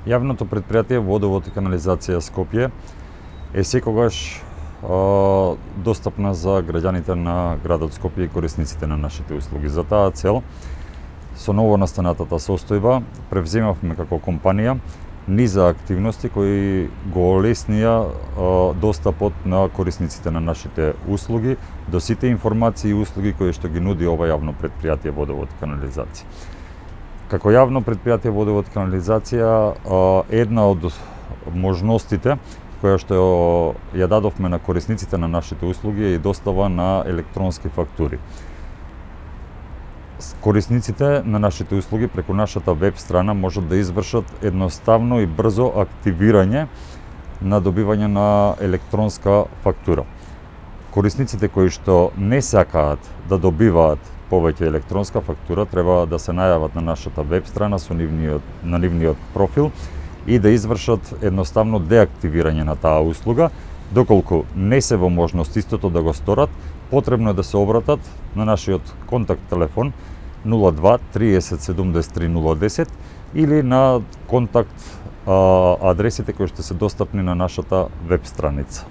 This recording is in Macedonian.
Јавното предпријатие Водовод и канализација Скопје е секогаш достапна за граѓаните на градот Скопје и корисниците на нашите услуги. За таа цел, со новонастанатата состојба, превземавме како компанија низа активности кои го олеснија достапот на корисниците на нашите услуги до сите информации и услуги кои што ги нуди ова јавно предпријатие Водовод и канализација. Како јавно предпријатие Водовод и канализација, една од можностите која што ја дадовме на корисниците на нашите услуги е и достава на електронски фактури. Корисниците на нашите услуги преку нашата веб страна можат да извршат едноставно и брзо активирање на добивање на електронска фактура. Корисниците кои што не сакаат да добиваат повеќе електронска фактура треба да се најават на нашата веб страна на нивниот профил и да извршат едноставно деактивирање на таа услуга. Доколку не се во можност истото да го сторат, потребно е да се обратат на нашиот контакт телефон 02 30 73 010 или на контакт адресите кои што се достапни на нашата веб страница.